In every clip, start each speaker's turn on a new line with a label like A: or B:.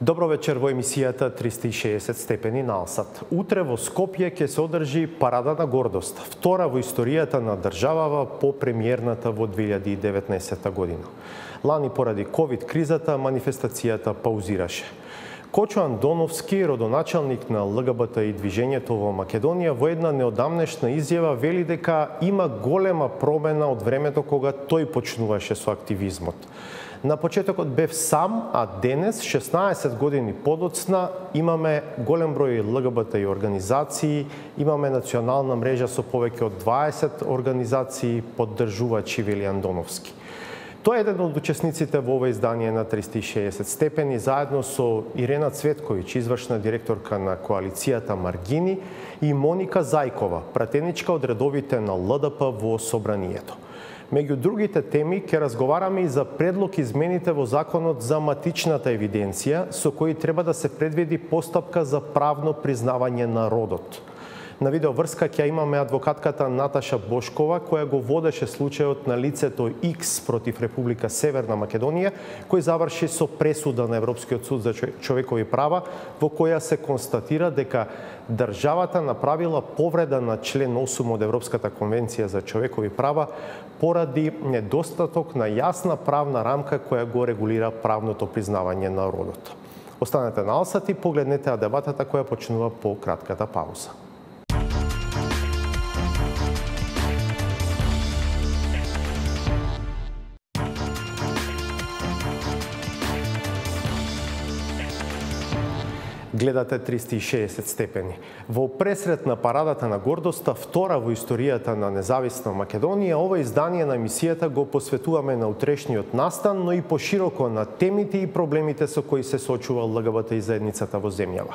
A: Добро вечер во емисијата 360 степени на Алсат. Утре во Скопје ќе се одржи парада на гордост, втора во историјата на државава по премиерната во 2019 година. Лани поради ковид кризата манифестацијата паузираше. Кочо Андоновски, родоначалник на ЛГБТ и движењето во Македонија, во една неодамнешна изјава вели дека има голема промена од времето кога тој почнуваше со активизмот. На почетокот бев сам, а денес, 16 години подоцна, имаме голем број ЛГБТ и организации, имаме национална мрежа со повеќе од 20 организации поддржувачи, вели Андоновски. Тој е еден од учесниците во ова издание на 360 степени, заедно со Ирена Цветковиќ, извршна директорка на коалицијата Маргини, и Моника Зајкова, пратеничка од редовите на ЛДП во Собранието. Меѓу другите теми ќе разговараме и за предлог измените во Законот за матичната евиденција, со кои треба да се предвиди постапка за правно признавање на родот. На видеоврска ќе имаме адвокатката Наташа Бошкова, која го водеше случајот на лицето X против Република Северна Македонија, кој заврши со пресуда на Европскиот суд за човекови права, во која се констатира дека државата направила повреда на член 8 од Европската конвенција за човекови права поради недостаток на јасна правна рамка која го регулира правното признавање на родот. Останете на Алсат и погледнете дебатата која почнува по кратката пауза. Гледате 360 степени. Во пресрет на парадата на гордоста, втора во историјата на независна Македонија, ова издание на емисијата го посветуваме на утрешниот настан, но и пошироко на темите и проблемите со кои се соочува ЛГБТ и заедницата во земјава.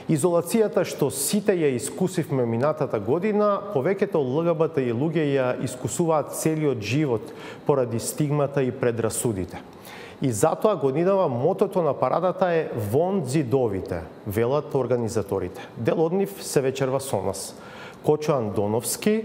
A: Изолацијата што сите ја искусивме минатата година, повеќето ЛГБТ и луѓе ја искусуваат целиот живот поради стигмата и предрасудите. И затоа годинава мотото на парадата е «Вон зидовите», велат организаторите. Дел од нив се вечерва со нас. Кочо Андоновски,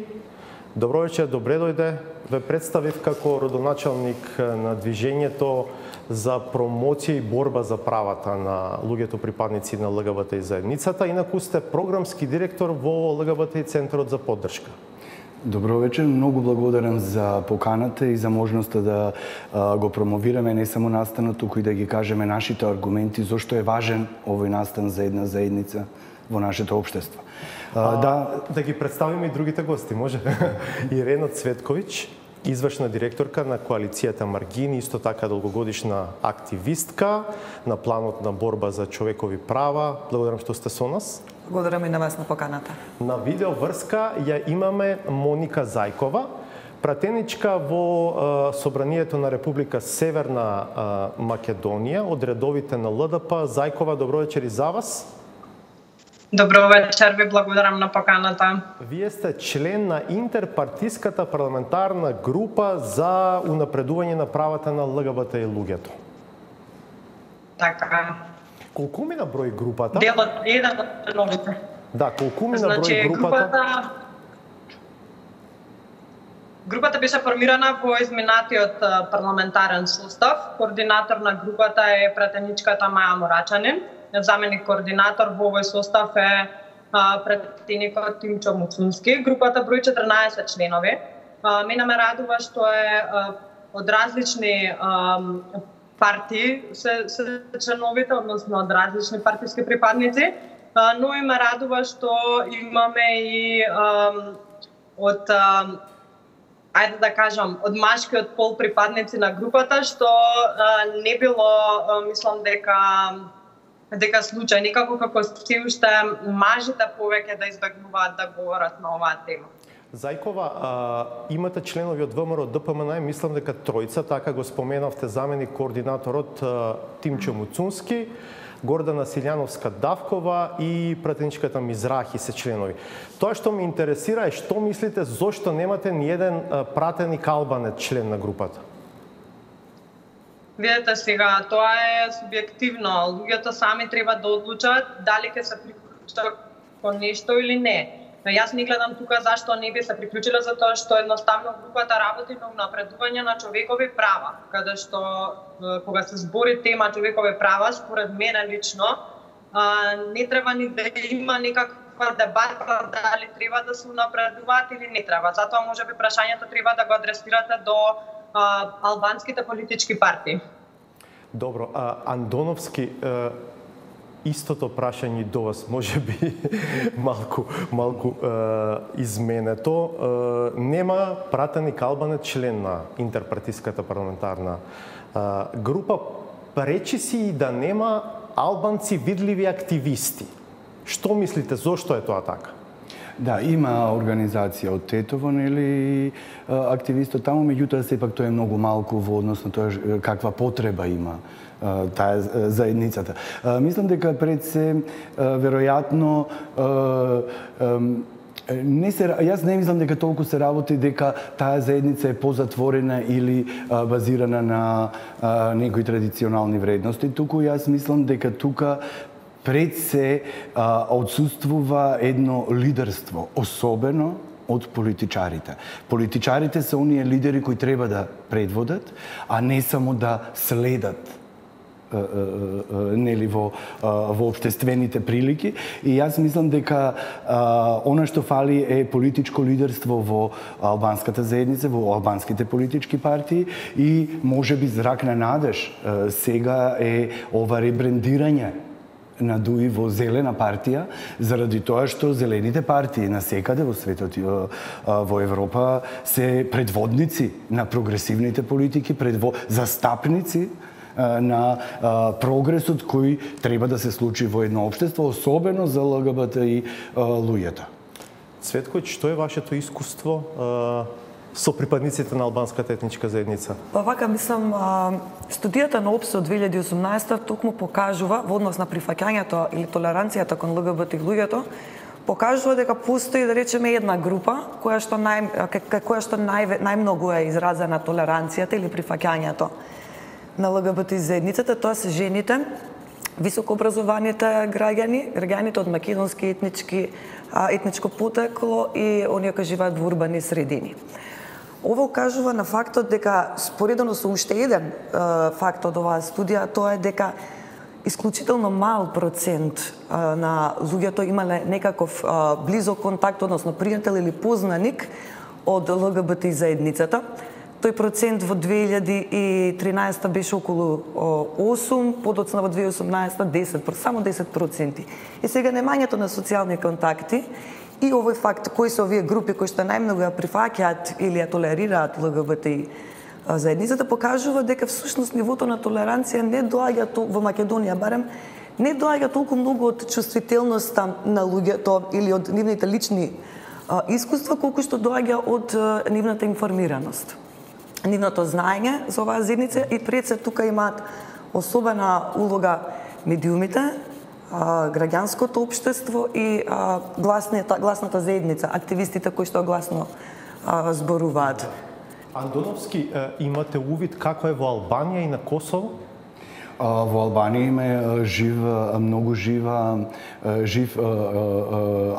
A: добро вечер, добре дојде. Ве представив како родоначалник на движењето за промоција и борба за правата на луѓето припадници на ЛГБТ и заедницата, инаку сте програмски директор во ЛГБТ и Центарот за поддршка.
B: Добро вечер, многу благодарам за поканата и за можноста да го промовираме не само настанот, туку и да ги кажеме нашите аргументи зошто е важен овој настан за една заедница во нашето општество.
A: Да ги представиме и другите гости, може? Ирена Цветковиќ, извршна директорка на коалицијата Маргини, исто така долгогодишна активистка на планот на борба за човекови права. Благодарам што сте со нас.
C: Благодарам и на вас на поканата.
A: На видеоврска ја имаме Моника Зајкова, пратеничка во Собранието на Република Северна Македонија, од редовите на ЛДП. Зајкова, добро вечер и за вас.
D: Добро вечер, ви благодарам на поканата.
A: Вие сте член на интерпартиската парламентарна група за унапредување на правата на ЛГБТ и луѓето.
D: Така.
A: Колку мина број групата?
D: Делот еден од членовите.
A: Да, колку мина број групата?
D: Групата беше формирана во изминатиот парламентарен состав. Координатор на групата е пратеничката Маја Морачанин. Заменик координатор во овој состав е пратеникот Тимчо Муцунски. Групата брои 14 членови. Мене ме радува што е од различни партии се членовите, односно од различни партиски припадници, но и ме радува што имаме и од ајде да кажам, од машкиот пол припадници на групата, што не било, мислам дека случај, никако како се уште мажите повеќе да избегнуваат да говорат на оваа тема.
A: Зајкова, имате членови од ВМРО ДПМН, мислам дека тројца, така го споменавте, заменик координаторот Тимчо Муцунски, Гордана Силјановска-Давкова и пратеничката Мизрахи се членови. Тоа што ме интересира е што мислите зошто немате ни еден пратеник албанец член на групата?
D: Видете сега, тоа е субјективно. Луѓето сами треба да одлучат дали ќе се приклучат кон нешто или не. Јас не гледам тука зашто не би се приклучила, затоа што едноставно групата работи на напредување на човекови права, каде што кога се збори тема човекови права, според мене лично, не треба ни да има некаква дебата дали треба да се напредуваат или не треба. Затоа можеби прашањето треба да го адресирате до албанските политички партии.
A: Добро, Андоновски, истото прашање до вас, може би малку изменето. Нема пратеник албанец член на интерпартиската парламентарна група. Пречи си и да нема албанци видливи активисти. Што мислите, зошто е тоа така?
B: Да, има организација од Тетово, нели, активисти таму, меѓутоа сепак тоа е многу малку во однос на тоа каква потреба има таа заедницата. Мислам дека пред се веројатно јас не мислам дека толку се работи дека таа заедница е позатворена или базирана на некои традиционални вредности. Туку јас мислам дека тука пред се отсуствува едно лидерство, особено од политичарите. Политичарите се оние лидери кои треба да предводат, а не само да следат нели во општествените прилики. И јас мислам дека она што фали е политичко лидерство во албанската заедница, во албанските политички партии и можеби зрак на надеж сега е ова ребрендирање на ДУИ во зелена партија, заради тоа што зелените партии насекаде во светот и во Европа се предводници на прогресивните политики, застапници на прогресот кој треба да се случи во едно општество, особено за ЛГБТ и луѓето.
A: Цветко, што е вашето искуство со припадниците на албанската етничка заедница?
C: Па вака, мислам, студијата на ОПСЕ од 2018 токму покажува, во однос на прифаќањето или толеранцијата кон ЛГБТ луѓето, покажува дека постои, да речеме, една група која што најмногу е изразена толеранцијата или прифаќањето на ЛГБТ заедницата, тоа се жените, високообразованите граѓаните од македонски етничко потекло и оние кои живеат во урбани средини. Ова укажува на фактот дека, споредено со уште еден факт од оваа студија, тоа е дека исклучително мал процент на луѓето имале некаков близок контакт, односно пријател или познаник од ЛГБТ заедницата. Тој процент во 2013 беше околу 8, подоцна во 2018 10%, само 10%. И сега немањето на социјални контакти и овој факт, кои се овие групи кои што најмногу ја прифаќаат или ја толерираат ЛГБТ заедницата, покажува дека всушност нивото на толеранција не доаѓа во Македонија барем, не доаѓа толку многу од чувствителноста на луѓето или од нивните лични искуства, колку што доаѓа од нивната информираност. Нивното знаење за оваа заедница и пред се тука имаат особена улога медиумите, граѓанското општество и гласната заедница, активистите кои што гласно зборуваат.
A: Андоновски, имате увид како е во Албанија и на Косово?
B: Во Албанија има многу жив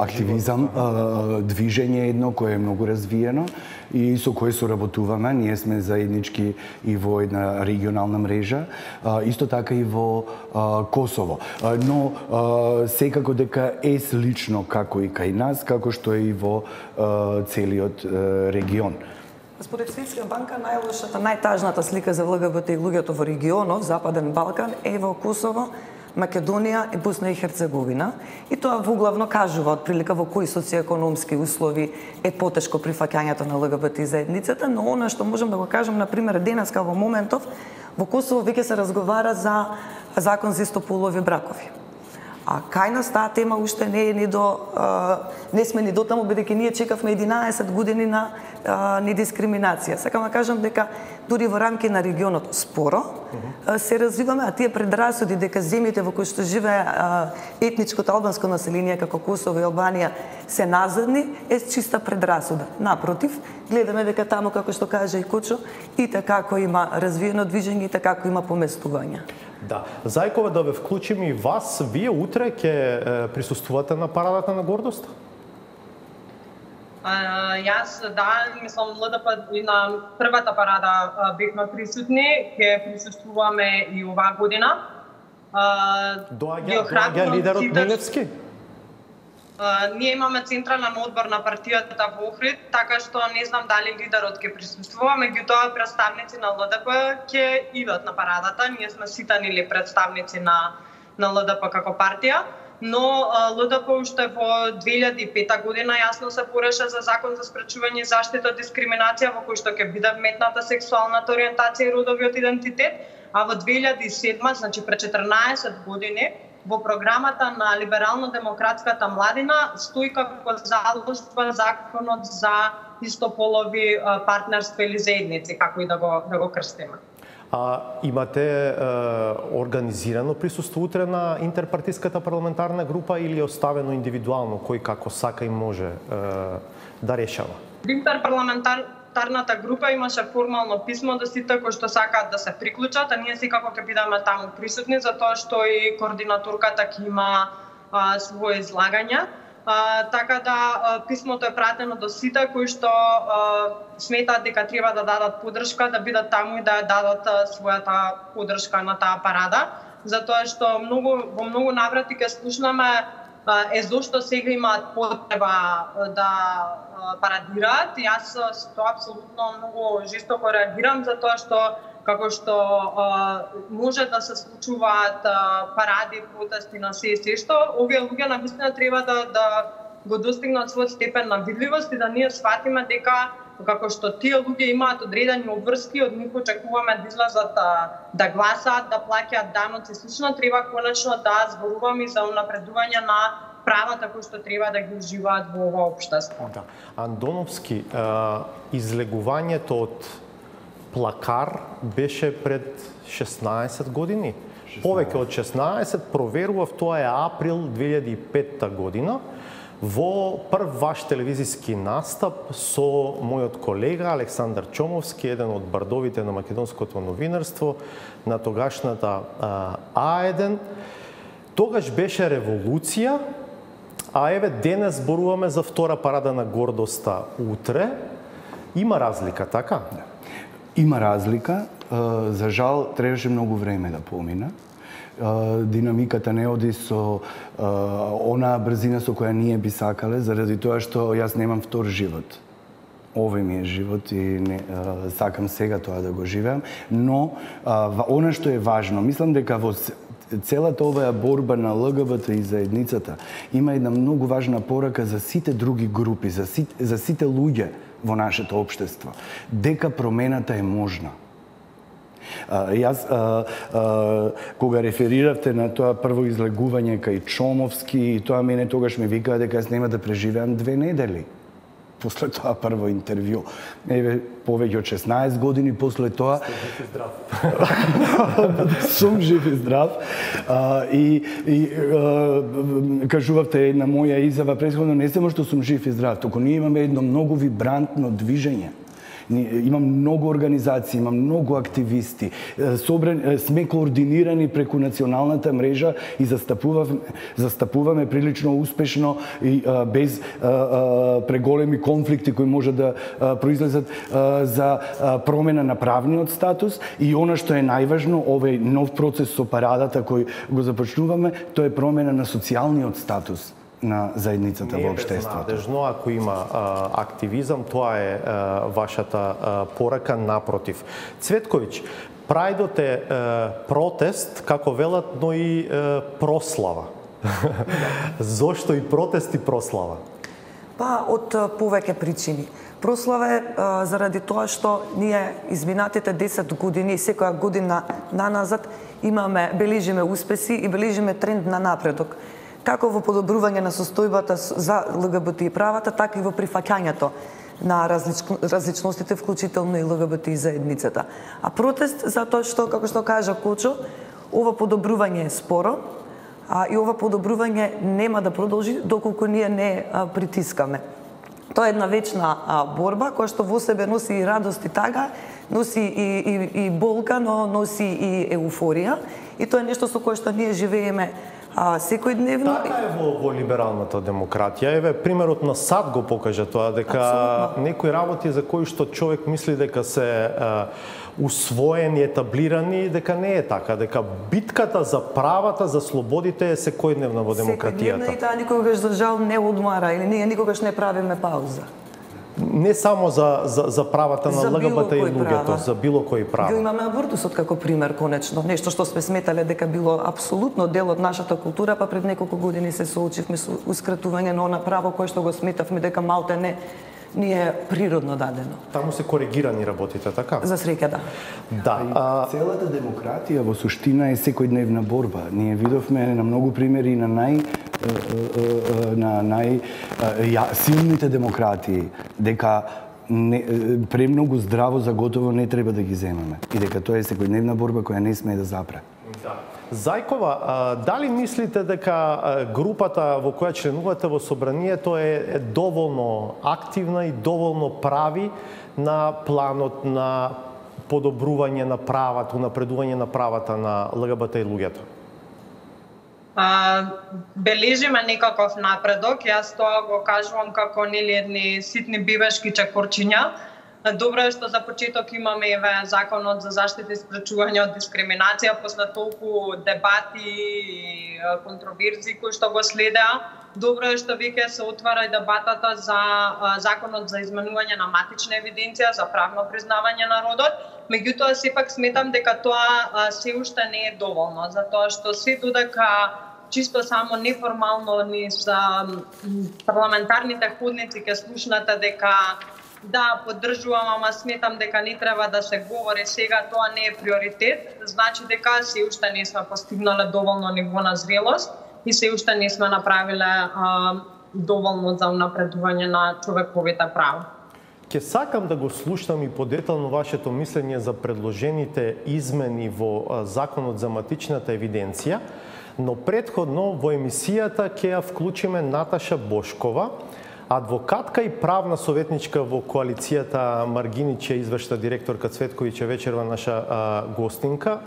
B: активизам, движење едно кое е многу развиено и со кое соработуваме. Ние сме заеднички и во една регионална мрежа, исто така и во Косово. Но секако дека е слично како и кај нас, како што е и во целиот регион.
C: Според Светска банка, најлошата, најтажната слика за ЛГБТ и луѓето во регионот, Западен Балкан, е во Косово, Македонија и Босна и Херцеговина. И тоа воглавно кажува отприлика во кои социјекономски услови е потешко прифаќањето на ЛГБТ заедницата, но она што можам да го кажам, например, денеска во моментов, во Косово веќе се разговара за закон за истополови бракови. А кај нас таа тема уште не сме ни дотаму, бидејќи ние чекавме 11 години на недискриминација. Сакам да кажам дека дури во рамки на регионот споро се развиваме, а тие предрасуди дека земјите во кои што живее етничкото албанско население како Косово и Албанија се назадни е чиста предрасуда. Напротив, гледаме дека таму, како што каже и Кочо, и така има развиено движење, и така има поместување.
A: Да. Зајкова, да ве вклучим и вас. Вие утре ќе присуствувате на парадата на гордост?
D: Јас, мислам, ЛДП и на првата парада бевме присутни, ќе присуствуваме и оваа година.
A: Доаѓа лидерот Милевски?
D: Ние имаме централен одбор на партијата во Охрид, така што не знам дали лидерот ќе присуствува, меѓутоа представници на ЛДП ќе идат на парадата. Ние сме ситанили представници на ЛДП како партија, но ЛДП уште во 2005 година јасно се пореша за закон за спречување и заштита од дискриминација, во кој што ќе биде вметната сексуалната ориентација и родовиот идентитет, а во 2007, значи пред 14 години, во програмата на либерално-демократската младина стои како заложба законот за истополови партнерства или заедници, како и да го крстиме.
A: Имате организирано присуство утре на интерпартиската парламентарна група или оставено индивидуално, кој како сака и може да решава? Интерпарламентарната
D: група имаше формално писмо до сите кои што сакаат да се приклучат, а ние секако ќе бидеме таму присутни, затоа што и координаторката ќе има своје излагања. Така да писмото е пратено до сите кои што сметаат дека треба да дадат поддршка, да бидат таму и да дадат својата поддршка на таа парада, затоа што во многу наврати ќе слушнаме зошто сега имаат потреба да парадираат. Јас тоа апсолутно многу жестоко реагирам, затоа што како што може да се случуваат паради, протести на се што, овие луѓе навистина треба да го достигнат својот степен на видливост и да ние сватиме дека како што тие луѓе имаат одредени обврски, од нив очекуваме да излезат да гласаат, да плаќаат даноци и слично, треба конечно да зборуваме за унапредување на правата кои што треба да ги уживаат во ова општество.
A: Андоновски, излегувањето од плакар беше пред 16 години. Повеќе од 16, проверував, тоа е април 2005 година. Во прв ваш телевизиски настап со мојот колега Александар Чомовски, еден од бардовите на македонското новинарство, на тогашната А1. Тогаш беше револуција, а еве денес зборуваме за втора парада на гордоста утре. Има разлика, така?
B: Има разлика. За жал, требаше многу време да помина. Динамиката не оди со онаа брзина со која ние би сакале, заради тоа што јас немам втор живот. Овој ми е живот и сакам сега тоа да го живеам, но она што е важно, мислам дека во целата оваа борба на ЛГБТ и заедницата има една многу важна порака за сите други групи, за сите луѓе во нашето општество, дека промената е можна. Јас, кога рефериравте на тоа прво излегување кај Чомовски, тоа мене тогаш ме викаа дека јас нема да преживеам 2 недели. После тоа прво интервју. Еве, повеќе од 16 години после тоа... Сум жив и здрав. И кажувавте една моја изјава претходно, не само што сум жив и здрав, туку ние имаме едно многу вибрантно движење. Имам многу организации, имам многу активисти. Сме координирани преку националната мрежа и застапуваме прилично успешно и без преголеми конфликти кои може да произлезат за промена на правниот статус и она што е најважно, овој нов процес со парадата кој го започнуваме, тоа е промена на социјалниот статус на заедницата во општеството.
A: Не е безнадежно ако има активизам, тоа е вашата порака, напротив. Цветковиќ, Прајдот е протест, како велат, но и прослава. Зошто и протест и прослава?
C: Па, од повеќе причини. Прослава е заради тоа што ние изминатите 10 години, секоја година наназад, бележиме успеси и бележиме тренд на напредок. Како во подобрување на состојбата за ЛГБТ и правата, така и во прифаќањето на различностите, вклучително и ЛГБТ и заедницата. А протест затоа што, како што кажа Кочо, ова подобрување е споро, и ова подобрување нема да продолжи доколку ние не притискаме. Тоа е една вечна борба која што во себе носи и радост и тага, носи и болка, но носи и еуфорија. И тоа е нешто со кое што ние живееме Секојдневно.
A: Така е во либералната демократија. Еве примерот на САД го покажа тоа, дека некои работи за кои што човек мисли дека се усвоени, етаблирани, дека не е така, дека битката за правата, за слободите е секојдневна во демократијата.
C: Секојдневна и таа никогаш за жал не одмара или ние никогаш не правиме пауза.
A: Не само за правата на ЛГБТ и луѓето, за било кои права.
C: Го имаме абортусот како пример, конечно. Нешто што сме сметале дека било апсолутно дел од нашата култура, па пред неколку години се соочивме со ускратување на она право кое што го сметавме дека малте не ни е природно дадено.
A: Таму се коригирани работите, така?
C: За среќа, да.
A: Да.
B: Целата демократија во суштина е секојдневна борба. Ние видовме на многу примери на силните демократии дека премногу здраво за готово не треба да ги земаме и дека тоа е секојдневна борба која не смее да запре.
A: Да. Зајкова, дали мислите дека групата во која членувате во собранието е доволно активна и доволно прави на планот на подобрување на правата, напредување на правата на ЛГБТ и луѓето?
D: Бележиме некаков напредок, јас тоа го кажувам како едни ситни бебешки чекорчиња. Добро е што за почеток имаме законот за заштита и спречување од дискриминација после толку дебати и контроверзии кои што го следеа. Добро е што веќе се отвара и дебатата за законот за изменување на матична евиденција, за правно признавање на родот. Меѓутоа, сепак сметам дека тоа се уште не е доволно, затоа што се додека чисто само неформално низ парламентарните ходници ќе слушнате дека да, поддржувам, ама сметам дека не треба да се говори сега, тоа не е приоритет, значи дека се уште не сме постигнале доволно ниво на зрелост и се уште не сме направиле доволно за унапредување на човековите права.
A: Ке сакам да го слушнам и подетално вашето мислење за предложените измени во Законот за матичната евиденција, но претходно во емисијата ќе ја вклучиме Наташа Бошкова, адвокатка и правна советничка во коалицијата Маргиниче, извршна директорка Цветковиќе вечерва наша гостинка.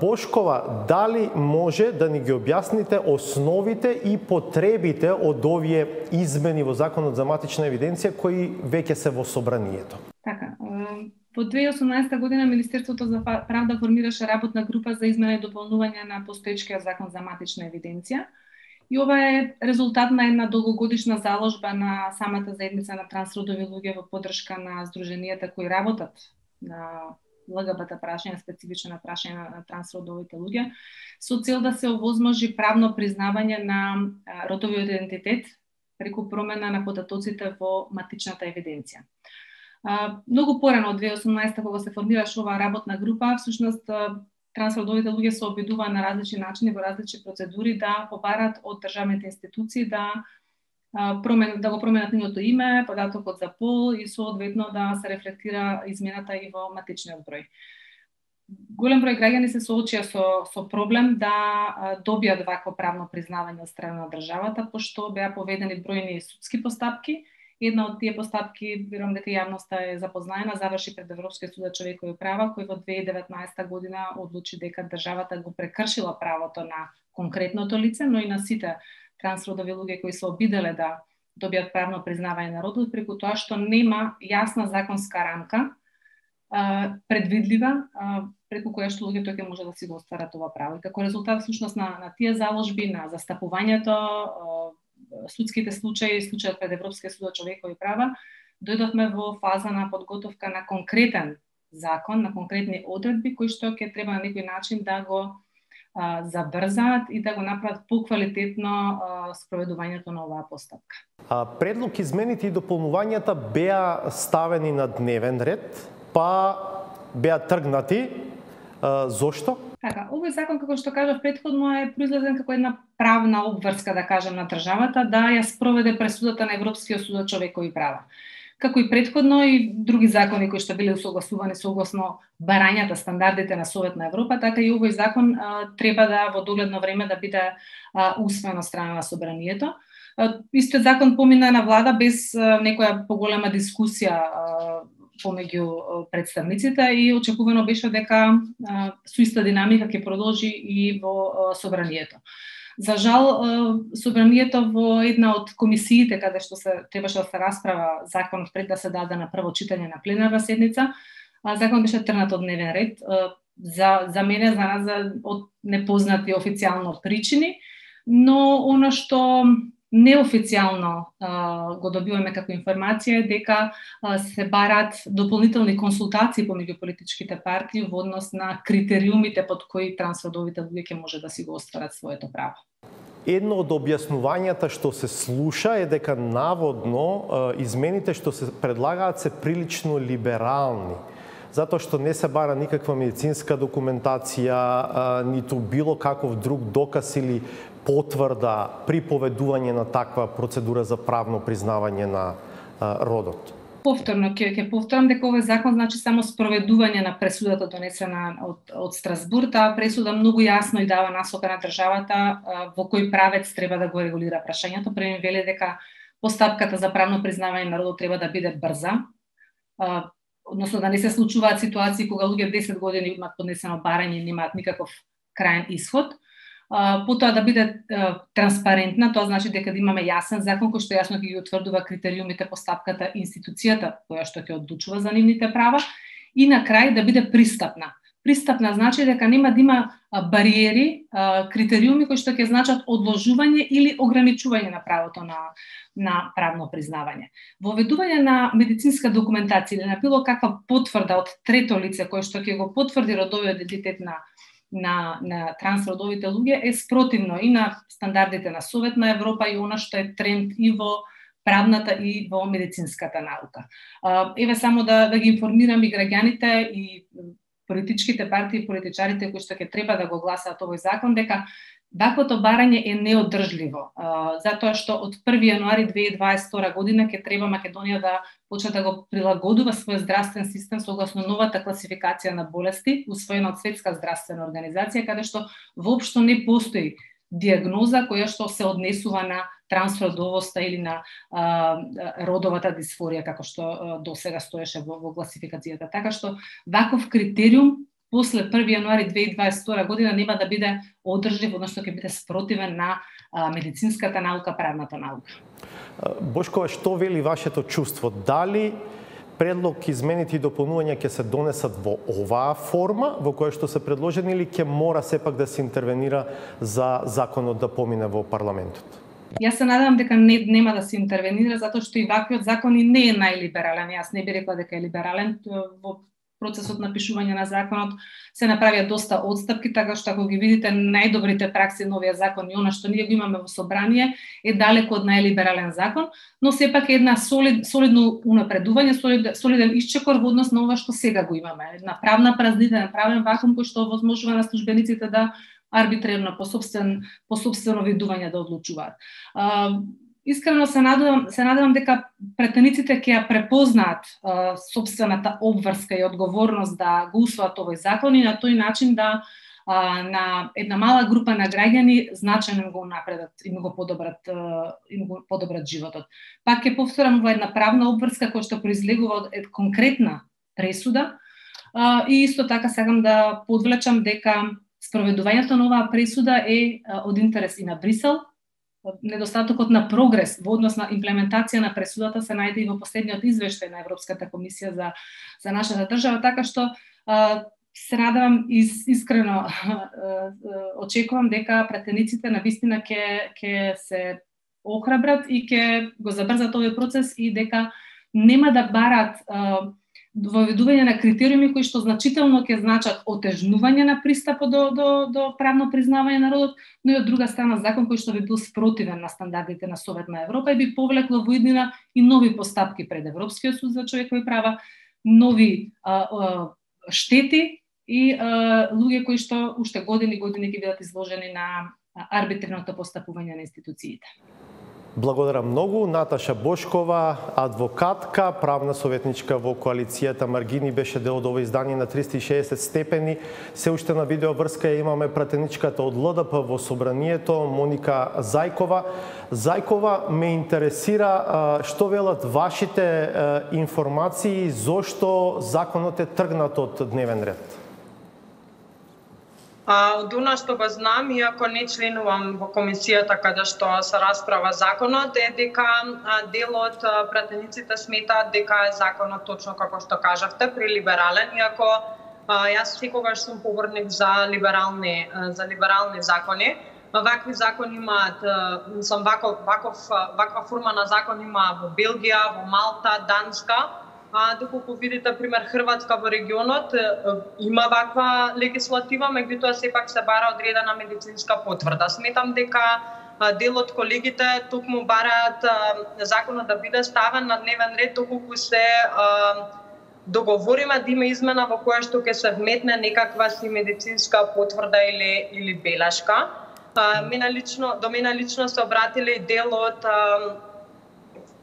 A: Бошкова, дали може да ни ги објасните основите и потребите од овие измени во Законот за матична евиденција кои веќе се во собранието?
E: Така, во 2018 година Министерството за правда формираше работна група за измена и дополнување на постоечкиот Закон за матична евиденција. И ова е резултат на една долгогодишна заложба на самата заедница на трансродови луѓе во поддршка на здруженијата кои работат на ЛГБТ прашања, специфично на прашања на трансродовите луѓе, со цел да се овозможи правно признавање на родовиот идентитет преку промена на податоците во матичната евиденција. Многу порано од 2018 кога се формираше оваа работна група, всушност трансродовите луѓе се обидуваа на различни начини, во различни процедури да побарат од државните институции да го променат нивното име, податокот за пол и соодветно да се рефлектира измената и во матичниот број. Голем број граѓани се соочија со проблем да добијат вакво правно признавање од страна на државата, пошто беа поведени бројни судски постапки. Една од тие постапки, верувам дека јавноста е запознаена, заврши пред Европскиот суд за човекови права, кој во 2019 година одлучи дека државата го прекршила правото на конкретното лице, но и на сите трансродови луѓе кои се обиделе да добијат правно признавање на родот, преку тоа што нема јасна законска рамка предвидлива преку која што луѓето ќе може да си го остварат ова право. И како резултат всушност на тие заложби, на застапувањето, судските случаи, случајот пред Европскиот суд за човекови права, дојдовме во фаза на подготовка на конкретен закон, на конкретни одредби кои што ќе треба на некој начин да го забрзаат и да го направат поквалитетно спроведувањето на оваа постапка.
A: Предлог измените и дополнувањата беа ставени на дневен ред, па беа тргнати. Зошто?
E: Така, овој закон, како што кажав претходно, е произлезен како една правна обврска, да кажем, на државата да ја спроведе пресудата на Европскиот суд за човекови права. Како и претходно и други закони кои што биле усогласувани согласно барањата, стандардите на Совет на Европа, така и овој закон треба да во догледно време да биде усвоен од страна на собранието. Истиот закон помина на влада без некоја поголема дискусија помеѓу представниците и очекувано беше дека со иста динамика ќе продолжи и во собранието. За жал, собранието во една од комисиите каде што требаше да се расправа законот пред да се даде на прво читање на пленарна седница, законот беше тргнат од дневен ред. За мене, за нас, од непознати официјално причини, но она што неофицијално го добиваме како информација е дека се барат дополнителни консултации помеѓу политичките партии во однос на критериумите под кои трансродовите луѓе ќе може да си го остварат своето право.
A: Едно од објаснувањата што се слуша е дека наводно измените што се предлагаат се прилично либерални, затоа што не се бара никаква медицинска документација, ниту било каков друг доказ или потврда при поведување на таква процедура за правно признавање на родот.
E: Повторно ќе повторам дека овој закон значи само спроведување на пресудата донесена од Страсбург. Таа пресуда многу јасно и дава насока на државата во кој правец треба да го регулира прашањето. Први вели дека постапката за правно признавање на родот треба да биде брза, односно да не се случуваат ситуации кога луѓе 10 години имаат поднесено барање и немаат никаков крајен исход. Потоа да биде транспарентна, тоа значи дека да имаме јасен закон кој што јасно ќе ги утврдува критериумите, постапката, институцијата која што ќе одлучува за нивните права и на крај да биде пристапна. Пристапна значи дека нема да има бариери, критериуми кои што ќе значат одложување или ограничување на правото на правно признавање. Воведување на медицинска документација или на било каква потврда од трето лице кој што ќе го потврди родовиот идентитет на трансродовите луѓе е спротивно и на стандардите на Совет на Европа и она што е тренд и во правната и во медицинската наука. Еве само да ги информирам и граѓаните и политичките партии и политичарите кои што ќе треба да го гласаат овој закон дека ваквото барање е неодржливо, затоа што од 1 јануари 2022 година ќе треба Македонија да почне да го прилагодува својот здравствен систем согласно новата класификација на болести усвоена од Светска здравствена организација, каде што воопшто не постои диагноза која што се однесува на трансродовоста или на родовата дисфорија како што досега стоеше во класификацијата. Така што ваков критериум после 1 јануари 2022 година нема да биде одржлив, односно ќе биде спротивен на медицинската наука, правната наука.
A: Бошкова, што вели вашето чувство? Дали предлог измените и дополнувања ќе се донесат во оваа форма во која што се предложени или ќе мора сепак да се интервенира за законот да помине во парламентот?
E: Јас се надевам дека нема да се интервенира затоа што и ваквиот закон и не е најлиберален. Јас не би рекла дека е либерален. Во процесот на пишување на законот се направија доста отстапки, така што ако ги видите најдобрите пракси на овој закон и она што ние го имаме во собрание е далеко од најлиберален закон, но сепак е една солидно унапредување, солиден исчекор во однос на ова што сега го имаме. Една правна празнина, правен вакуум кој што овозможува на службениците да арбитрерно по сопствено видување да одлучуваат. Искрено се надевам дека претениците ќе ја препознаат сопствената обврска и одговорност да го усвојат овој закон и на тој начин да на една мала група на граѓани значајно го напредат и го подобрат животот. Пак ќе повторам, ова една правна обврска која што произлегува од конкретна пресуда и исто така сакам да подвлечам дека спроведувањето на оваа пресуда е од интерес и на Брисел. Недостатокот на прогрес во однос на имплементација на пресудата се најде и во последниот извештај на Европската комисија за нашата држава, така што се надевам искрено очекувам дека претениците навистина ќе се охрабрат и ќе го забрзат овој процес и дека нема да барат воведување на критериуми кои што значително ќе значат отежнување на пристапот до правно признавање на родот, но и од друга страна закон кој што би бил спротивен на стандардите на Совет на Европа и би повлекло во иднина и нови постапки пред Европскиот суд за човекови права, нови штети и луѓе кои што уште години ќе бидат изложени на арбитрерното постапување на институциите.
A: Благодарам многу. Наташа Бошкова, адвокатка, правна советничка во коалицијата Маргини, беше дел од ова издание на 360 степени. Се уште на видео врска имаме пратеничката од ЛДП во собранието, Моника Зајкова. Зајкова, ме интересира што велат вашите информации, зошто законот е тргнат од дневен ред?
D: Од она што го знам, иако не членувам во комисијата каде што се расправа законот, е дека дел од пратениците сметаат дека е законот точно како што кажавте, прелиберален, иако јас секогаш сум поборник за либерални закони. Вакви закони имаат, ваква форма на закон има во Белгија, во Малта, Данска. Доколку видите, пример, Хрватска во регионот има ваква легислатива, меѓутоа сепак се бара одредена медицинска потврда. Сметам дека дел од колегите токму бараат законот да биде ставен на дневен ред, доколку се договориме да има измена во која што ќе се вметне некаква си медицинска потврда или белешка. До мене лично се обратиле и дел од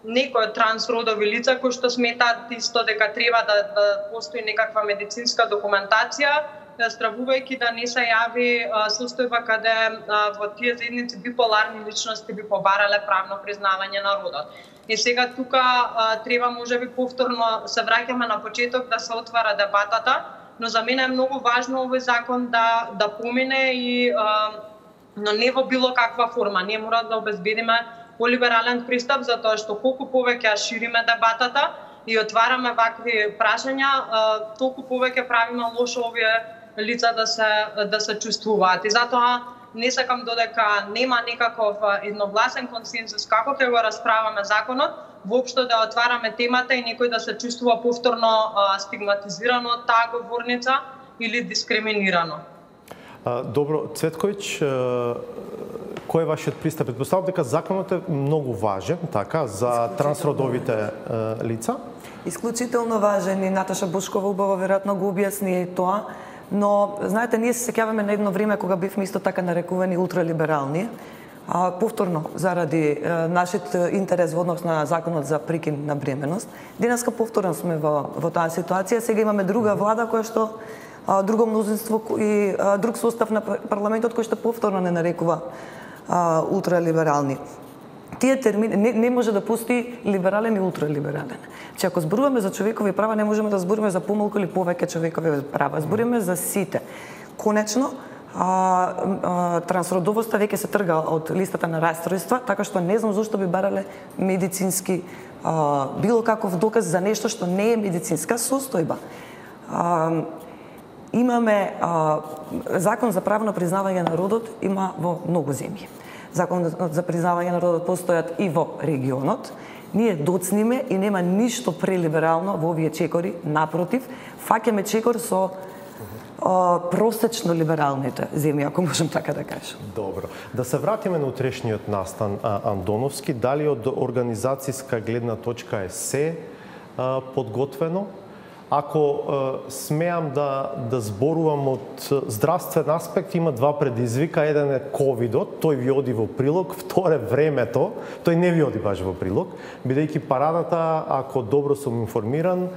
D: некои трансродови лица кои што сметаат исто дека треба да постои некаква медицинска документација, стравувајќи да не се јави состојба каде во тие заедници биполарни личности би побарале правно признавање на родот. И сега тука треба можеби повторно се враќаме на почеток да се отвара дебатата, но за мене е многу важно овој закон да помине но не во било каква форма. Ние мора да обезбедиме полиберален пристап, затоа што колку повеќе ја шириме дебатата и отвараме вакви прашања, толку повеќе правиме лошо овие лица да се чувствуваат. И затоа не сакам додека нема некаков едногласен консензус како ќе го расправаме законот, воопшто да отвараме темата и некој да се чувствува повторно стигматизирано од таа говорница или дискриминирано.
A: Добро, Цветковиќ, кој е вашиот пристап? Предпоставам дека законот е многу важен, така, за трансродовите лица?
C: Исклучително важен и Наташа Бошкова убаво веројатно го објасни тоа, но знаете, ние се сеќаваме на едно време кога бивме исто така нарекувани ултралиберални, повторно заради нашиот интерес во однос на законот за прекин на бременост. Денеска повторно сме во таа ситуација, сега имаме друга влада која што друго мнозинство и друг состав на парламентот кој што повторно не нарекува ултралиберални. Тие термини не може да постои либерален и ултралиберален. Че ако зборуваме за човекови права, не можеме да зборуваме за помалку или повеќе човекови права. Зборуваме за сите. Конечно, трансродовоста веќе се трга од листата на расстройства, така што не знам зошто би барале медицински било каков доказ за нешто што не е медицинска состојба. Имаме закон за правно признавање на родот, има во многу земји. Закон за признавање на родот постојат и во регионот. Ние доцниме и нема ништо прелиберално во овие чекори, напротив, фаќаме чекор со просечно либералните земји, ако можем така да кажем.
A: Добро. Да се вратиме на утрешниот настан Андоновски, дали од организацијска гледна точка е се подготвено? Ако смеам да зборувам од здравствен аспект, има два предизвика. Еден е ковидот, тој ви оди во прилог, второ е времето, тој не ви оди баш во прилог, бидејќи парадата, ако добро сум информиран,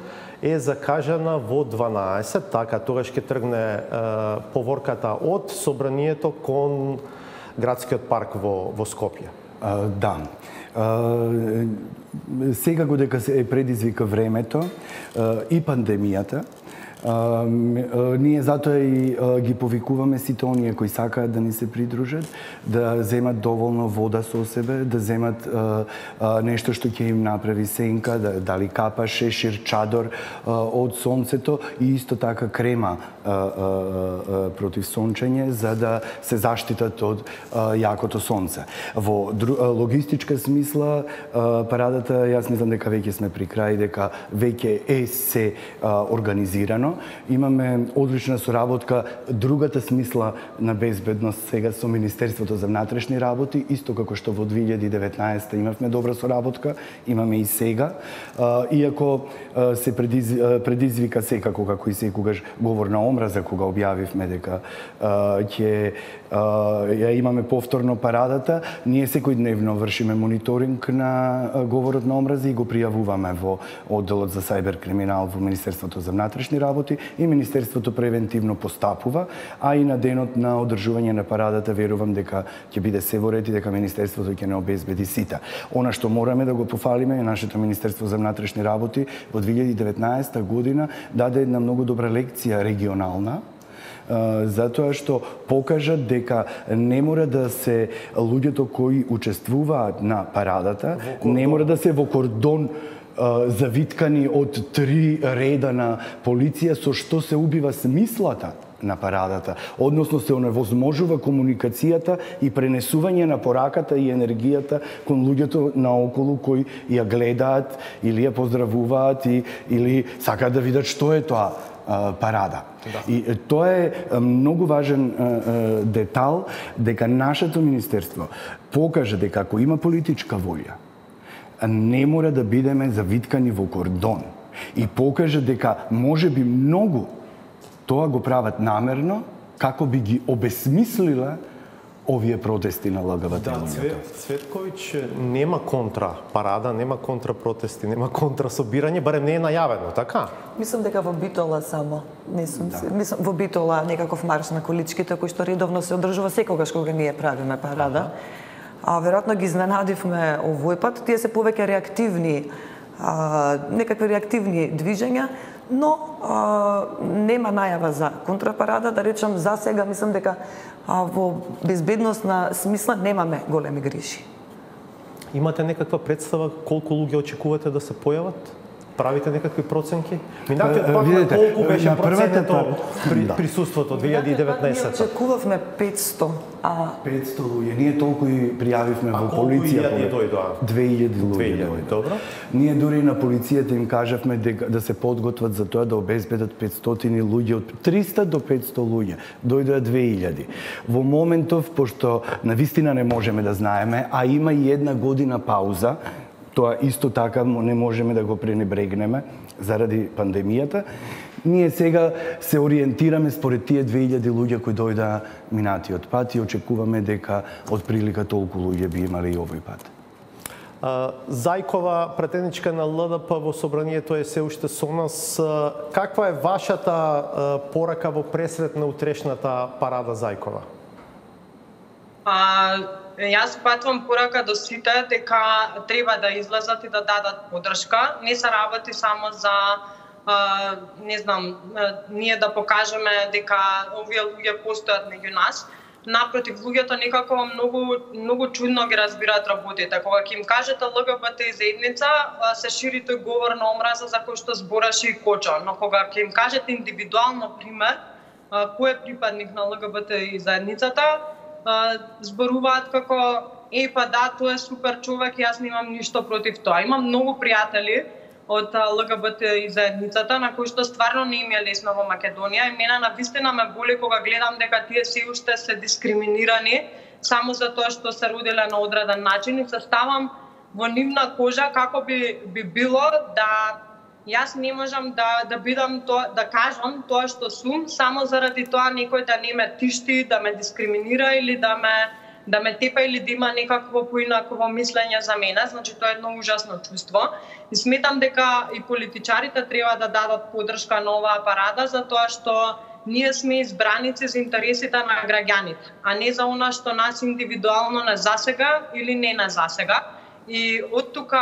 A: е закажана во 12, така тогаш ќе тргне поворката од собранието кон градскиот парк во Скопје.
B: Да. Сега додека се предизвика времето и пандемијата, ние затоа и ги повикуваме сите оние кои сакаат да ни се придружат, да земат доволно вода со себе, да земат нешто што ќе им направи сенка, дали капа, шешир, чадор од сонцето и исто така крема против сончење за да се заштитат од јакото сонце. Во логистичка смисла парадата, јас мислам дека веќе сме при крај, дека веќе е се организирано. заедно. Имаме одлична соработка, другата смисла на безбедност сега со Министерството за внатрешни работи, исто како што во 2019 имавме добра соработка, имаме и сега. Иако се предизвика секако, како и секогаш, говор на омраза, кога објавивме дека ќе ја имаме повторно парадата, ние секојдневно вршиме мониторинг на говорот на омраза и го пријавуваме во одделот за сајбер криминал во Министерството за внатрешни работи и Министерството превентивно постапува, а и на денот на одржување на парадата верувам дека ќе биде се во ред и дека Министерството ќе не обезбеди сите. Она што мораме да го пофалиме е нашето Министерство за внатрешни работи во 2019 година даде една многу добра лекција регионална, затоа што покажа дека не мора да се луѓето кои учествуваат на парадата, не мора да се во кордон завиткани од 3 реда на полиција, со што се убива смислата на парадата, односно се оневозможува комуникацијата и пренесување на пораката и енергијата кон луѓето наоколу кои ја гледаат или ја поздравуваат или сакаат да видат што е тоа парада. Да. И тоа е многу важен детал, дека нашето министерство покаже дека ако има политичка волја, не мора да бидеме завиткани во кордон. И покаже дека може би многу тоа го прават намерно, како би ги обесмислила овие протести на ЛГБТ луѓето.
A: Цветковиќ, нема контра парада, нема контра протести, нема контра собирање, барем не е најавено, така?
C: Мислам дека во Битола само. Мислам во Битола некаков марш на количките кој што редовно се одржува секогаш кога ние правиме парада. А веројатно ги изненадивме овој пат, тие се повеќе реактивни, некакви реактивни движења, но нема најава за контрапарада, да речам за сега мислам дека во безбедносна смисла немаме големи грижи.
A: Имате некаква представа колку луѓе очекувате да се појават? Правите некакви проценки? Минатиот пат на колку беше процентот присуството 2019?
C: Ние очекувавме 500.
B: 500 луѓе. Ние толку и пријавивме во полиција. 2000 луѓе.
A: Добро.
B: Ние дури на полицијата им кажавме да се подготват за тоа да обезбедат 500 луѓе, од 300 до 500 луѓе. Дојдоа 2000. Во моментов, пошто навистина не можеме да знаеме, а има и една година пауза, тоа исто така не можеме да го пренебрегнеме заради пандемијата. Ние сега се ориентираме според тие 2000 луѓе кои дојдаа минатиот пат и очекуваме дека од прилика толку луѓе би имали и овој пат.
A: Зајкова, претеничка на ЛДП во собранието е се уште со нас. Каква е вашата порака во пресрет на утрешната парада Зајкова?
D: Јас патвам порака до сите дека треба да излезат и да дадат поддршка. Не се работи само за ние да покажеме дека овие луѓе постојат меѓу нас. Напротив, луѓето некако многу чудно ги разбираат работите. Кога ќе им кажете ЛГБТ заедница, се шири тој говор на омраза за кој што збораше и Кочо. Но кога ќе им кажете индивидуално пример, кој е припадник на ЛГБТ заедницата, зборуваат како па да, тоа е супер човек, јас немам ништо против тоа. Имам многу пријатели од ЛГБТ и заедницата на кои што стварно не им е лесно во Македонија и мене навистина ме боли кога гледам дека тие се уште се дискриминирани само за тоа што се родиле на одреден начин и се ставам во нивна кожа како би било да јас не можам да бидам тоа, да кажам тоа што сум само заради тоа некој да не ме тишти, да ме дискриминира или да ме тепа или да има некакво поинаково мислење за мене. Значи тоа е едно ужасно чувство. И сметам дека и политичарите треба да дадат поддршка на оваа парада затоа што ние сме избраници за интересите на граѓаните, а не за она што нас индивидуално не засега или не на засега. И од тука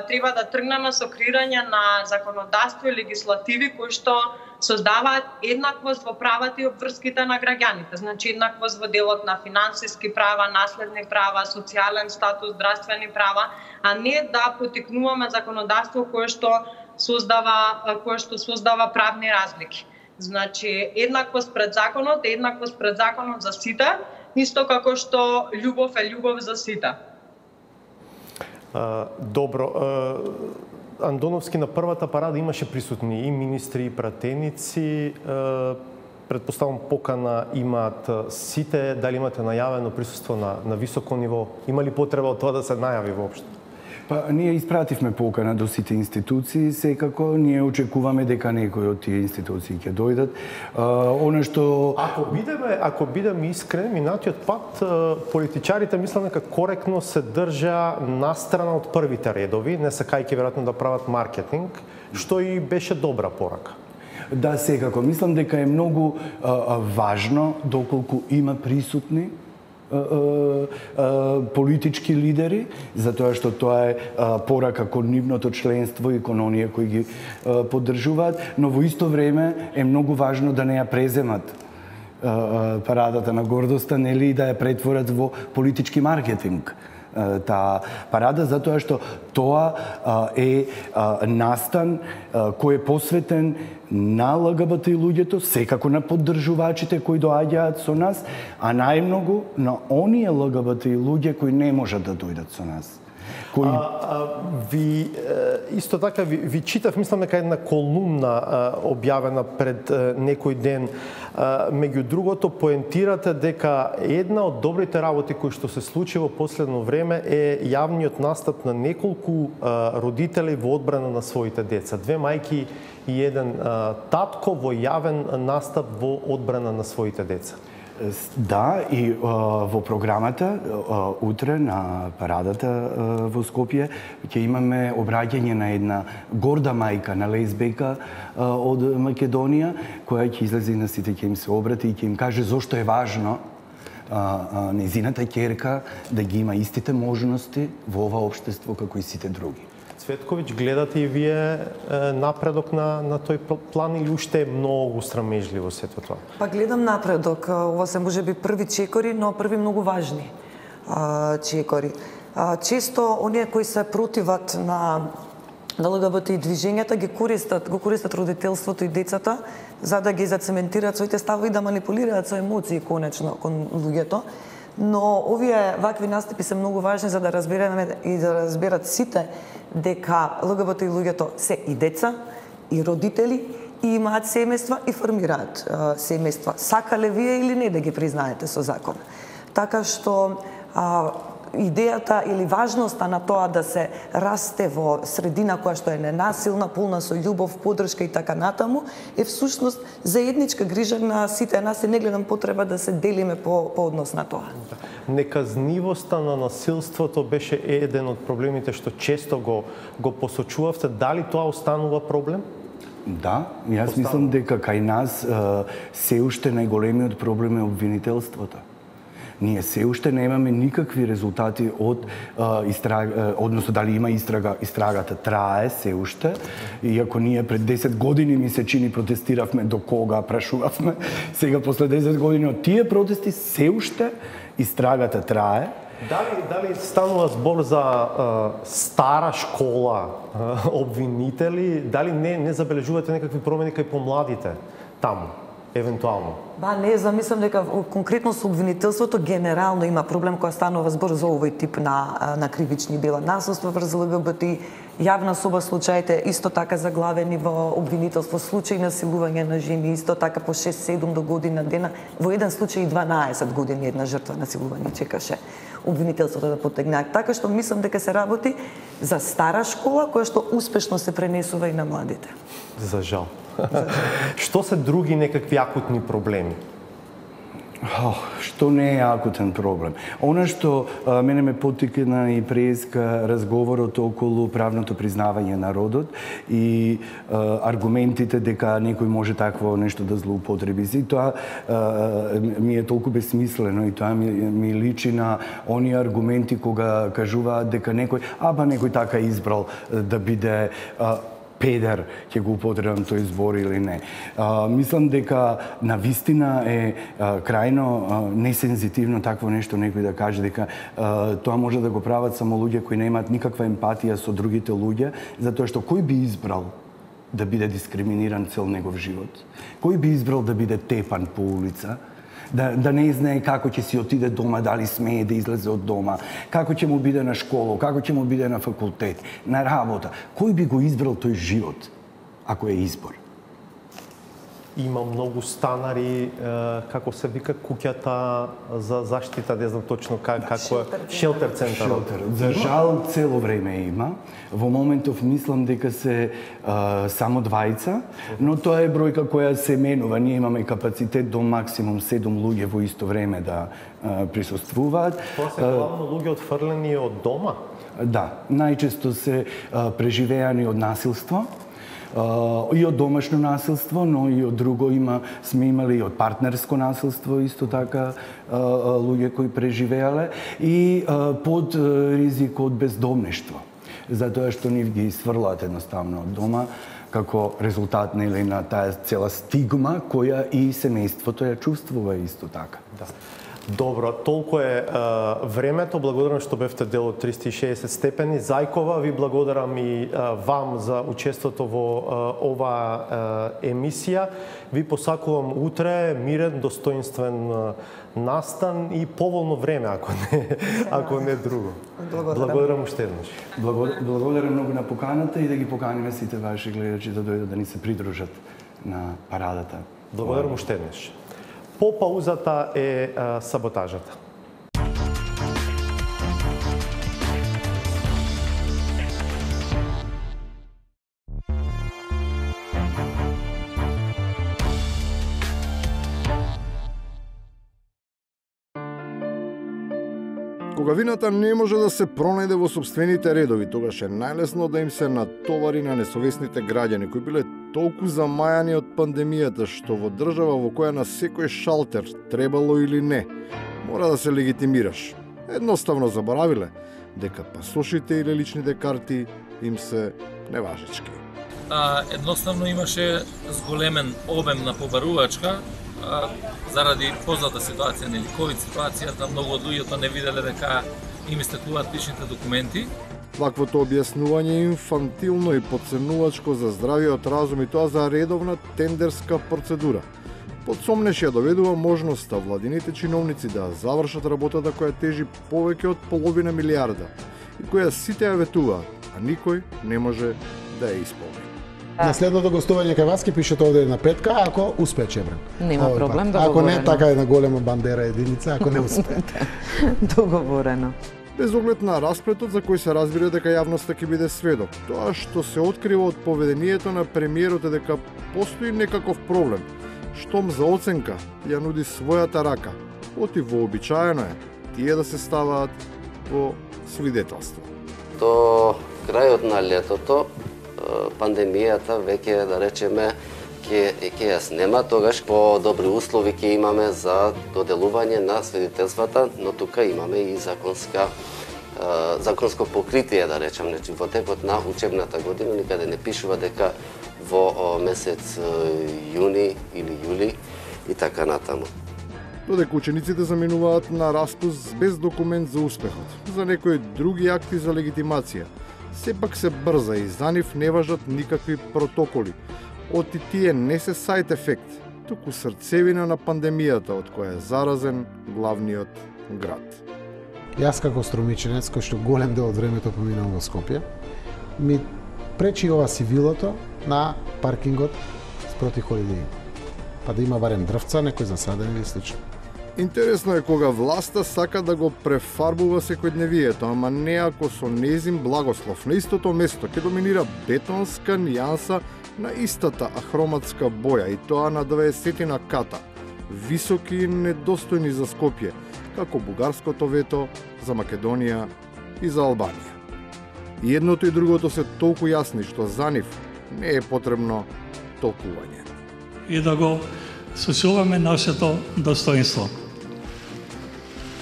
D: треба да тргнеме со креирање на законодавство и легислативи кои што создаваат еднаквост во правата и обврските на граѓаните. Значи еднаквост во делот на финансиски права, наследни права, социјален статус, здравствени права, а не да потикнуваме законодавство кое што создава правни разлики. Значи еднаквост пред законот за сите, исто како што љубов е љубов за сите.
A: Добро. Андоновски на првата парада имаше присутни и министри, и пратеници. Предпоставам покана имаат сите, дали имате најавено присуство на високо ниво? Има ли потреба од тоа да се најави воопшто?
B: Па, ние испративме покана до сите институции, секако ние очекуваме дека некои од тие институции ќе дојдат. Она што
A: Ако бидеме искрени, минатиот пат политичарите мислам дека коректно се држа настрана од првите редови, не сакајќи веројатно да прават маркетинг, што и беше добра порака.
B: Да, секако. Мислам дека е многу важно доколку има присутни политички лидери, затоа што тоа е порака кон нивното членство и кон оние кои ги поддржуваат, но во исто време е многу важно да не ја преземат парадата на гордоста, нели, да ја претворат во политички маркетинг. Таа парада, затоа што тоа е настан кој е посветен на ЛГБТ луѓето, секако на поддржувачите кои доаѓаат со нас, а најмногу на оние ЛГБТ луѓе кои не можат да дојдат со нас.
A: Ви исто така ви читав, мислам дека една колумна објавена пред некој ден. Меѓу другото поентирате дека една од добрите работи кои што се случи во последно време е јавниот настап на неколку родители во одбрана на своите деца. Две мајки и еден татко во јавен настап во одбрана на своите деца.
B: Да, и во програмата утре на парадата во Скопје ќе имаме обраќање на една горда мајка, на лесбека од Македонија, која ќе излезе на сите, ќе им се обрати и ќе им каже зошто е важно незината ќерка да ги има истите можности во ова општество како и сите други.
A: Цветковиќ, гледате и вие напредок на тој план или уште е многу срамежливо сето тоа?
C: Па гледам напредок. Ова се можеби први чекори, но први многу важни чекори. Често оние кои се противат на ЛГБТ и движењата го користат родителството и децата за да ги зацементираат своите ставови и да манипулираат со емоции конечно кон луѓето. Но овие вакви настапи се многу важни за да разбереме и да разберат сите дека ЛГБТ луѓето се и деца, и родители, и имаат семејства и формираат семејства. Сакале вие или не да ги признаете со закон. Така што идејата или важноста на тоа да се расте во средина која што е ненасилна, полна со љубов, поддршка и така натаму, е всушност заедничка грижа на сите нас и не гледам потреба да се делиме по однос на тоа.
A: Неказнивоста на насилството беше еден од проблемите што често го посочувавте. Дали тоа останува проблем?
B: Да, јас мислам дека кај нас се уште најголемиот проблем е обвинителството. Ние се уште немаме никакви резултати од истрага, односно дали има истрага, истрагата трае се уште. Иако ние пред 10 години ми се чини протестиравме до кога прашувавме, сега после 10 години од тие протести се уште истрагата трае.
A: Дали станува збор за стара школа обвинители, дали не забележувате некакви промени кај помладите таму? Евентуално.
C: Не замислам дека конкретно со обвинителството генерално има проблем кога станува збор за овој тип на кривични дела. Насилство врз ЛГБТ, јавна соба случаите исто така заглавени во обвинителство, случаи насилување на жени исто така по 6-7 до година дена, во еден случај 12 години една жртва насилување чекаше обвинителството да потегне. Така што мислам дека се работи за стара школа која што успешно се пренесува и на младите.
A: За жал. Што се други некакви акутни проблеми?
B: Што не е акутен проблем? Она што мене ме поттикна и преска разговорот околу правното признавање на родот и аргументите дека некој може такво нешто да злоупотреби. И тоа ми е толку безсмислено и тоа ми личи на оние аргументи кога кажуваат дека некој така избрал да биде педер, ќе го употребам тој збор или не. Мислам дека навистина е крајно несензитивно такво нешто некој да каже дека тоа може да го прават само луѓе кои немаат никаква емпатија со другите луѓе, затоа што кој би избрал да биде дискриминиран цел негов живот? Кој би избрал да биде тепан по улица? да не знае како ќе си отиде дома, дали смее да излезе од дома, како ќе му биде на школа, како ќе му биде на факултет, на работа. Кој би го избрал тој живот, ако е избор?
A: Има многу станари, како се вика куќата за заштита, не знам точно како е, шелтер центар.
B: За жал цело време има. Во моментов мислам дека се само двајца, но тоа е бројка која се менува. Ние имаме капацитет до максимум 7 луѓе во исто време да присуствуваат.
A: Тоа се главно луѓе отфрлени од дома?
B: Да, најчесто се преживеани од насилство. И од домашно насилство, но и од друго сме имали и од партнерско насилство, исто така луѓе кои преживеале, и под ризик од бездомништво, затоа што нив ги сврлаат едноставно од дома, како резултат на таа цела стигма која и семејството ја чувствува исто така.
A: Да. Добро, толку е времето. Благодарам што бевте дел од 360 степени. Зајкова, ви благодарам и вам за учеството во оваа емисија. Ви посакувам утре мирен, достоинствен настан и поволно време, ако не друго. Благодарам уште еднаш.
B: Благодарам многу на поканата и да ги поканиме сите ваши гледачи да дојдат да ни се придружат на парадата.
A: Благодарам уште еднаш. По паузата е саботажата.
F: Кога вината не може да се пронајде во сопствените редови, тогаш е најлесно да им се натовари на несовесните граѓани кои биле толку замајани од пандемијата што во држава во која на секој шалтер, требало или не, мора да се легитимираш. Едноставно заборавиле дека пасошите или личните карти им се неважечки.
G: Едноставно имаше зголемен обем на побарувачка, заради позната ситуација, нели ковид ситуацијата, многу од луѓето не виделе дека им истекуваат личните документи.
F: Ваквото објаснување е инфантилно и потценувачко за здравиот разум и тоа за редовна тендерска процедура. Подсомнеш ја доведува можноста владините чиновници да завршат работата која тежи повеќе од половина милиарда и која сите ја ветуваат, а никој не може да ја исполни.
H: На следното гостување кај вас ќе пишете овде на петка, ако успее Чебрен.
I: Нема проблем, договорено.
H: Ако не, така една голема бандера единица, ако не успее.
I: Договорено.
F: Без оглед на расплетот за кој се разбира дека јавноста ќе биде сведок, тоа што се открива од поведението на премиерот е дека постои некаков проблем, штом за оценка ја нуди својата рака, оти вообичаено е тие да се ставаат во свидетелство.
J: До крајот на летото пандемијата веќе, да речеме, ќе ја снема, тогаш по добри услови ќе имаме за доделување на свидетелствата, но тука имаме и законско покритие, да речем, значи во текот на учебната година никаде не пишува дека во месец јуни или јули и така натаму.
F: Додека учениците заминуваат на распуст без документ за успехот, за некои други акти за легитимација, сепак се брза и за нив не важат никакви протоколи. Оти тие не се сайд ефект, туку срцевина на пандемијата од која е заразен главниот град.
H: Јас како струмиченец, кој што голем дел од времето поминам во Скопје, ми пречи ова сивилото на паркингот спроти Холидеј. Па да има барем дрвца, некој засаден или слично.
F: Интересно е кога власта сака да го префарбува секојдневието, ама не ако со незин благослов. На истото место ќе доминира бетонска нијанса на истата ахроматска боја и тоа на 20 ката, високи и недостојни за Скопје, како бугарското вето за Македонија и за Албанија. И едното и другото се толку јасни што за нив не е потребно толкување.
K: И да го сочуваме нашето достоинство.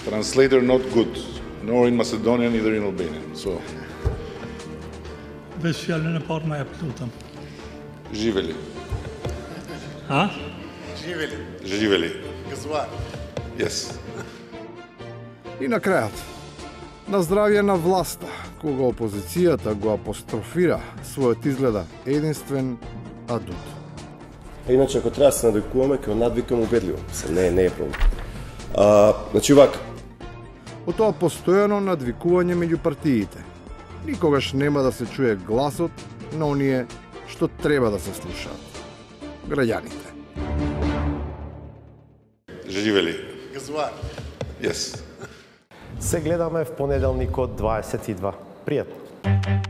L: Translator not good, nor in Macedonian, neither in Albanian. So.
K: Без фjalën e parë më jep lutem.
L: Живели.
K: А?
L: Живели. Живели. Гъзвар. Yes.
F: И на крајот, на здравје на власта, кога опозицијата го апострофира својот изгледа единствен адут.
M: Иначе, ако треба да се надвикуваме, ќе надвикаме убедливо. Не е проблем. Значи вака.
F: Од тоа постојано надвикување меѓу партиите. Никогаш нема да се чуе гласот на оние што треба да се слушаат. Граѓаните.
L: Живели.
N: Газуар.
L: Yes.
A: Се гледаме в понеделникот 22. Пријатно.